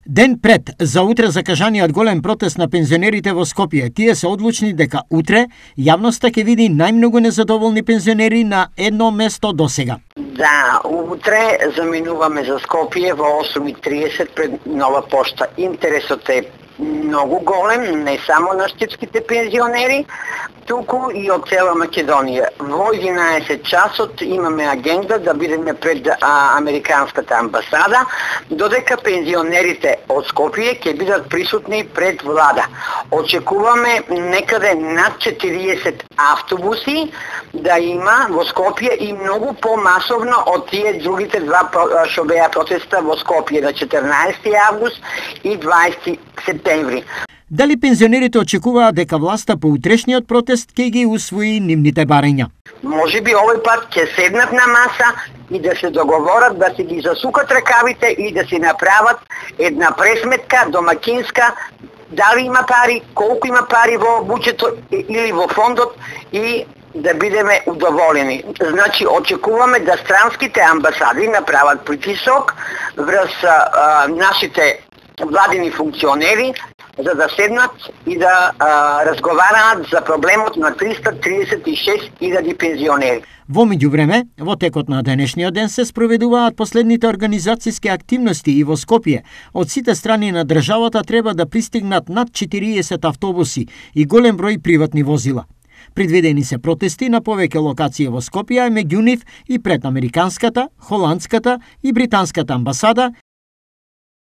Ден пред за утре закажаниот голем протест на пензионерите во Скопје, тие се одлучни дека утре јавноста ќе види најмногу незадоволни пензионери на едно место досега. Да, утре заминуваме за Скопје во 8:30 пред Нова пошта. Интересот е многу голем, не само на штипските пензионери, туку и од цела Македонија. Во 11 часот имаме агенда да бидеме пред Американската амбасада, додека пензионерите од Скопје ќе бидат присутни пред влада. Очекуваме некаде над 40 автобуси да има во Скопје и многу помасовно од тие другите два што беа протеста во Скопје на 14 август и 20 септември. Дали пензионерите очекуваат дека власта по утрешниот протест ќе ги усвои нивните барања? Може би овој пат ќе седнат на маса и да се договорат да си ги засукат ракавите и да си направат една пресметка домакинска, дали има пари, колку има пари во буџетот или во фондот и да бидеме удоволени. Значи, очекуваме да странските амбасади направат притисок врз нашите владини функционери, за да седнат и да разговараат за проблемот на 336.000 пензионери. Во меѓувреме, во текот на денешниот ден се спроведуваат последните организацијски активности и во Скопје. Од сите страни на државата треба да пристигнат над 40 автобуси и голем број приватни возила. Предвидени се протести на повеќе локации во Скопје, меѓу нив и пред Американската, Холандската и Британската амбасада